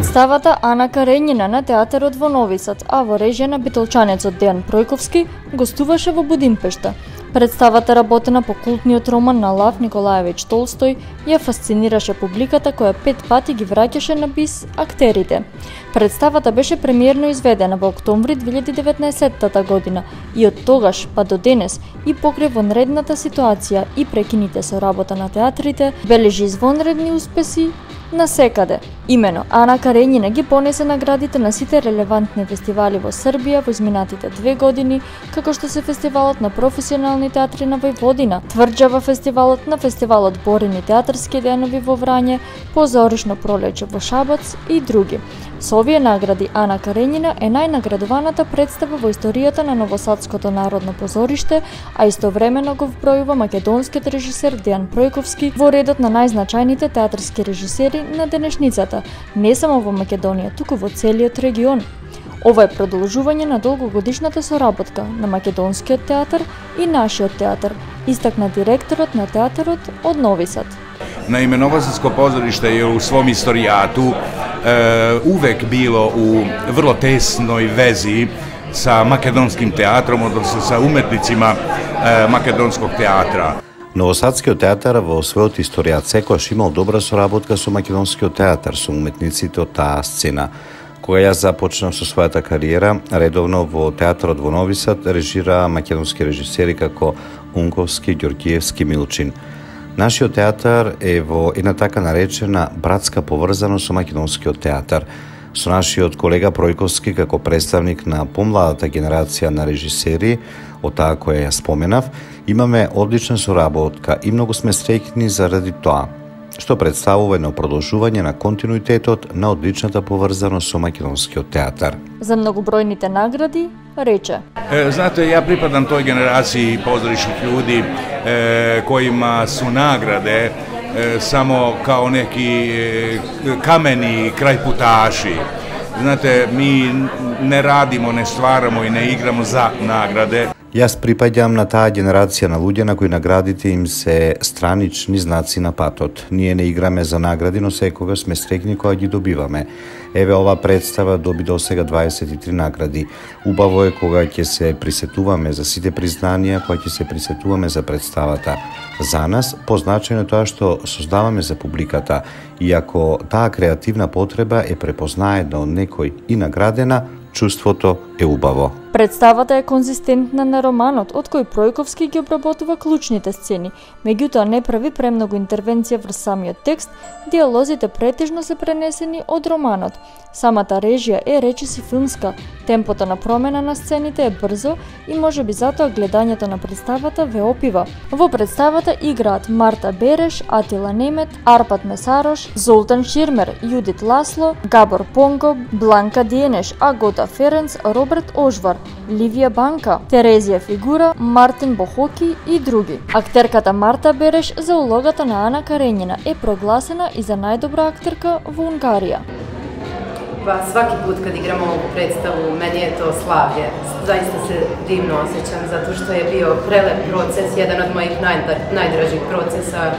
Представата Ана Каренина на театарот во Нови Сад, а во режија на битолчанецот Дејан Пројковски, гостуваше во Будимпешта. Представата, работена по култниот роман на Лав Николаевич Толстој, ја фасцинираше публиката која 5 пати ги враќаше на бис актерите. Представата беше премиерно изведена во октомври 2019 година и од тогаш па до денес и покрај вонредната ситуација и прекините со работа на театрите, бележи извонредни успеси насекаде. Имено, Ана Каренина ги понесе наградите на сите релевантни фестивали во Србија во изминатите 2 години, како што се фестивалот на професионални театри на Војводина, Тврџава фестивалот, на фестивалот Борини театарски денови во Врање, Позоришно пролеće во Шабац и други. Со овие награди Ана Каренина е најнаградуваната представа во историјата на Новосадското народно позориште, а истовремено го вбројува македонскиот режисер Дејан Пројковски во редот на најзначајните театарски режисери на денешницата, не само во Македонија, туку во целиот регион. Ова е продолжување на долгогодишната соработка на македонскиот театар и нашиот театар, истакна директорот на театарот од Нови Сад. Naime, Novosadsko pozorište je u svom istorijatu uvek bilo u vrlo tesnoj vezi sa makedonskim teatrom, odnosno sa umetnicima makedonskog teatra. Новосадскиот театар во својот историјат секогаш имал добра соработка со македонскиот театар, со уметниците од таа сцена. Кога јас започнав со својата кариера, редовно во театарот во Нови Сад режира македонски режисери како Унковски, Ѓорѓиевски, Милчин. Нашиот театар е во една така наречена братска поврзаност со македонскиот театар. Со нашиот колега Пројковски како представник на помладата генерација на режисери, од таа која ја споменав, имаме одлична соработка и многу сме среќни заради тоа, што представува едно продолжување на континуитетот на одличната поврзаност со македонскиот театар. За многобројните награди рече: Znate, ja pripadam toj generaciji pozorišnih ljudi kojima su nagrade samo kao neki kameni krajputaši. Znate, mi ne radimo, ne stvaramo i ne igramo za nagrade. Јас припаѓам на таа генерација на луѓе на кои наградите им се странични знаци на патот. Ние не играме за награди, но секогаш сме среќни кога ги добиваме. Еве, ова представа доби до сега 23 награди. Убаво е кога ќе се присетуваме за сите признанија, кога ќе се присетуваме за представата. За нас, позначено е тоа што создаваме за публиката, и ако таа креативна потреба е препознаена од некој и наградена, чувството е убаво. Представата е конзистентна на романот, од кој Пројковски ги обработува клучните сцени, меѓутоа не прави премногу интервенција врз самиот текст, диалозите претежно се пренесени од романот. Самата режија е речиси филмска, темпото на промена на сцените е брзо и можеби затоа гледањето на представата ве опива. Во представата играат Марта Береш, Атила Немет, Арпад Месарош, Золтан Ширмер, Јудит Ласло, Габор Понго, Бланка Диенеш, Агота Ференц, Роберт Ожвар, Ливија Банка, Терезија Фигура, Мартин Бохоки и други. Актерката Марта Береш за улогата на Ана Каренина е прогласена и за најдобра актерка во Унгарија. Svaki put kad igramo ovu predstavu, meni je to slavlje. Zaista se divno osjećam, zato što je bio prelep proces, jedan od mojih najdražih procesa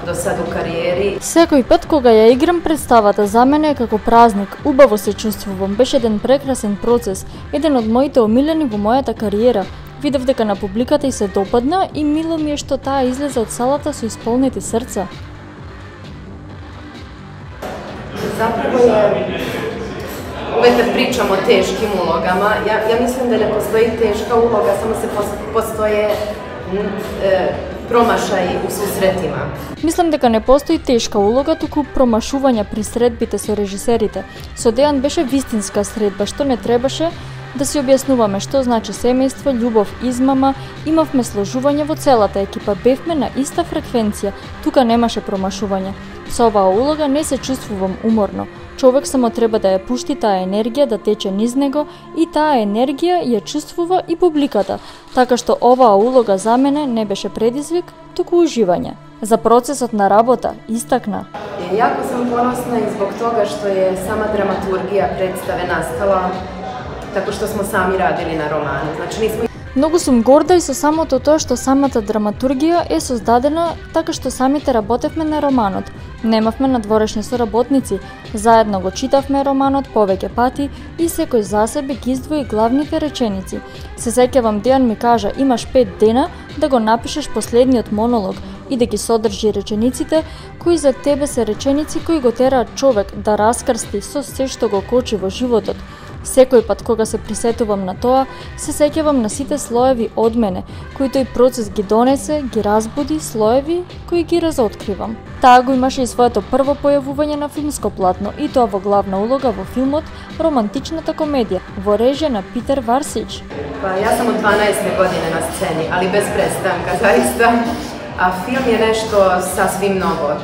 до сад у кариери. Секој пат кога ја играм представата, за мене е како празник, убаво се чувствувам, беше еден прекрасен процес, еден од моите омилени во мојата кариера. Видов дека на публиката и се допадна и мило ми е што таа излезе од салата со исполнети срца. Zapravo je, uvek kad pričam o teškim ulogama, ja mislim da ne postoji teška uloga, samo se postoje промашаи у susretima. Мислам дека не постои тешка улога, туку промашувања при средбите со режисерите. Со Дејан беше вистинска средба, што не требаше да си објаснуваме што значи семејство, љубов, измама. Имавме сложување во целата екипа, бевме на иста фреквенција, тука немаше промашување. Со оваа улога не се чувствувам уморно. Човек само треба да ја пушти таа енергија да тече низ него и таа енергија ја чувствува и публиката, така што оваа улога за мене не беше предизвик, туку уживање. За процесот на работа истакна: Јако сам поносна и због тога што е сама драматургија представе настала tako što smo sami radili na romanu. Znači Многу сум горда и со самото тоа што самата драматургија е создадена така што самите работевме на романот. Немавме надворешни соработници, заедно го читавме романот повеќе пати и секој за себе ги издвои главните реченици. Се сеќавам Дејан ми кажа имаш 5 дена да го напишеш последниот монолог и да ги содржи речениците кои за тебе се реченици кои го тераат човек да раскрсти со се што го кочи во животот. Секој пат кога се присетувам на тоа, се сеќавам на сите слоеви од мене, кои тој процес ги донесе, ги разбуди, слоеви кои ги разоткривам. Таа го имаше и своето прво појавување на филмско платно, и тоа во главна улога во филмот Романтичната комедија, во режија на Питер Варсич. Ја сам од 12 година на сцени, али без престанка, заиста. А филм е нешто сасвим ново.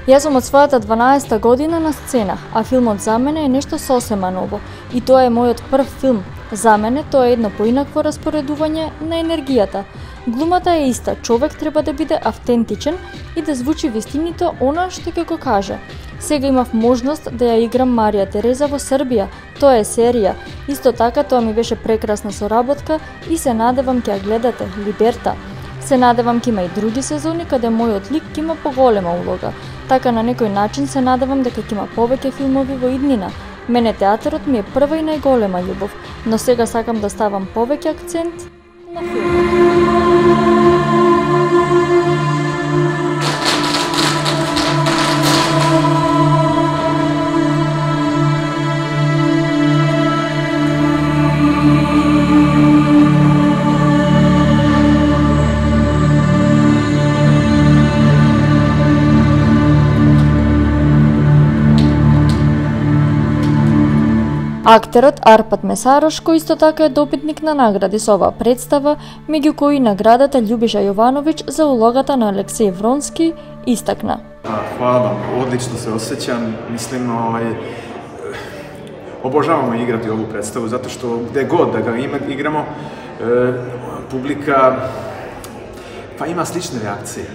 Јас сум од својата 12 година на сцена, а филмот за мене е нешто сосема ново. И тоа е мојот прв филм. За мене тоа е едно поинакво распоредување на енергијата. Глумата е иста, човек треба да биде автентичен и да звучи вистинито она што ќе го каже. Сега имав можност да ја играм Марија Тереза во Србија. Тоа е серија. Исто така тоа ми беше прекрасна соработка и се надевам ќе ја гледате, Либерта. Се надевам ќе има и други сезони каде мојот лик ќе има поголема улога. Така на некој начин се надевам дека ќе има повеќе филмови во иднина. Мене театарот ми е прва и најголема љубов, но сега сакам да ставам повеќе акцент на филмот. Актерот Арпад Месарош, кој исто така е добитник на награди со оваа представа, меѓу кои наградата Љубиша Јовановиќ за улогата на Алексеј Вронски, истакна. Хвала вам, одлично се осеќам, мислим, обожавamo играти ову представу, затоа што где год да га играмо, публика има слични реакции.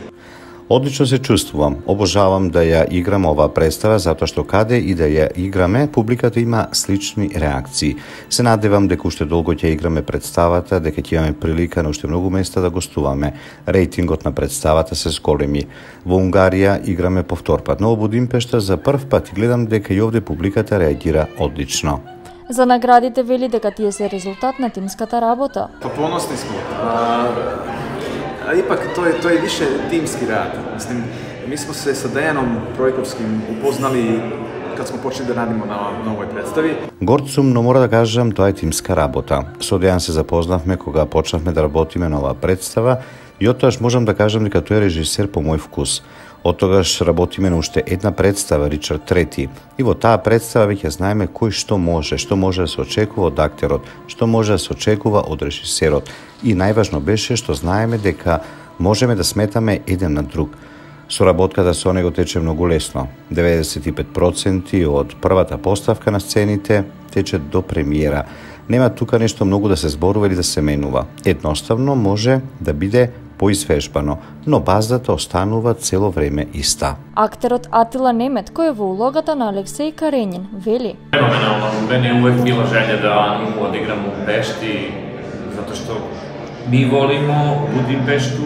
Одлично се чувствувам, обожавам да ја играм оваа представа, затоа што каде и да ја играме, публиката има слични реакции. Се надевам дека уште долго ќе играме представата, дека ќе имаме прилика на уште многу места да гостуваме. Рейтингот на представата се зголеми. Во Унгарија играме повторпат, но во Будимпешта за прв пат и гледам дека и овде публиката реагира одлично. За наградите вели дека тие се резултат на тимската работа. Поносни сме. Ипак тоа е више тимски рад. Мислим, ми смо се со Дејаном Пројковским упознали кад смо почнали да радимо на овој представи. Горд сум, но мора да кажам, тоа е тимска работа. Со Дејан се запознавме кога почнавме да работиме на оваа представа и оттогаш можам да кажам дека тој е режисер по мој вкус. Оттогаш работиме на уште една представа, Ричард Трети. И во таа представа веќе знаеме кој што може да се очекува од актерот, што може да се очекува од режисерот. И најважно беше што знаеме дека можеме да сметаме еден на друг. Соработката со него тече многу лесно. 95% од првата поставка на сцените тече до премиера. Нема тука нешто многу да се зборува или да се менува. Едноставно може да биде поизвежбано, но базата останува цело време иста. Актерот Атила Немет, кој е во улогата на Алексеј Каренин, вели: Феноменално, мене е увек била желја да Ану одиграм у Пешти, затоа што ми волимо Будимпешту,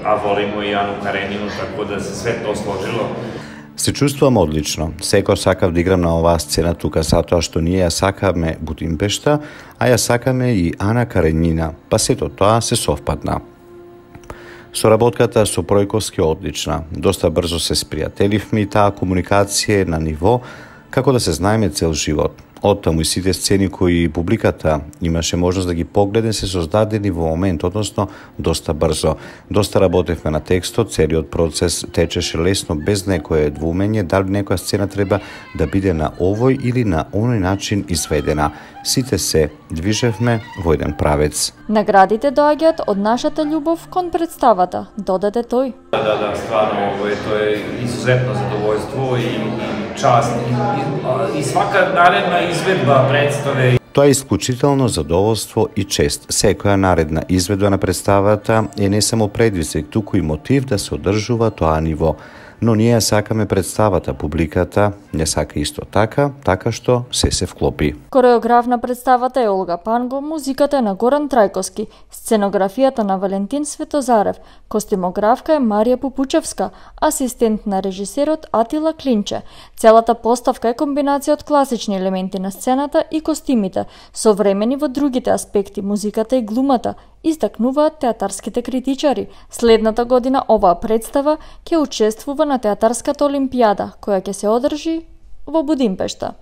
а волимо и Ану Каренину, така да се све тоа сложило. Се чувствувам одлично. Секој сакав да играм на оваа сцена тука, затоа што ние ја сакаме Будимпешта, а ја сакаме и Ана Каренина, па сето тоа се совпадна. Соработката со Пројковски е одлична. Доста брзо се спријателивме и таа комуникација е на ниво како да се знаеме цел живот. Оттаму и сите сцени кои публиката имаше можност да ги погледе се создадени во момент, односно доста брзо. Доста работевме на текстот, целиот процес течеше лесно без некое двумење дали некоја сцена треба да биде на овој или на оној начин изведена. Сите се движевме во еден правец. Наградите доаѓаат од нашата љубов кон представата, додаде тој. Да, стварно, тоа е изузетно задоволство и част и свака наредна изведба представе. Тоа е исклучително задоволство и чест. Секоја наредна изведба на представата е не само предизвик, туку и мотив да се одржува тоа ниво. но ние сакаме представата, публиката не сака исто така што се вклопи. Кореограф на представата е Олга Панго, музиката е на Горан Трајковски, сценографијата на Валентин Светозарев, костимографка е Марија Пупучевска, асистент на режисерот Атила Клинче. Целата поставка е комбинација од класични елементи на сцената и костимите, современи во другите аспекти, музиката и глумата, истакнуваат театарските критичари. Следната година оваа представа ќе учествува на Театарската олимпијада, која ќе се одржи во Будимпешта.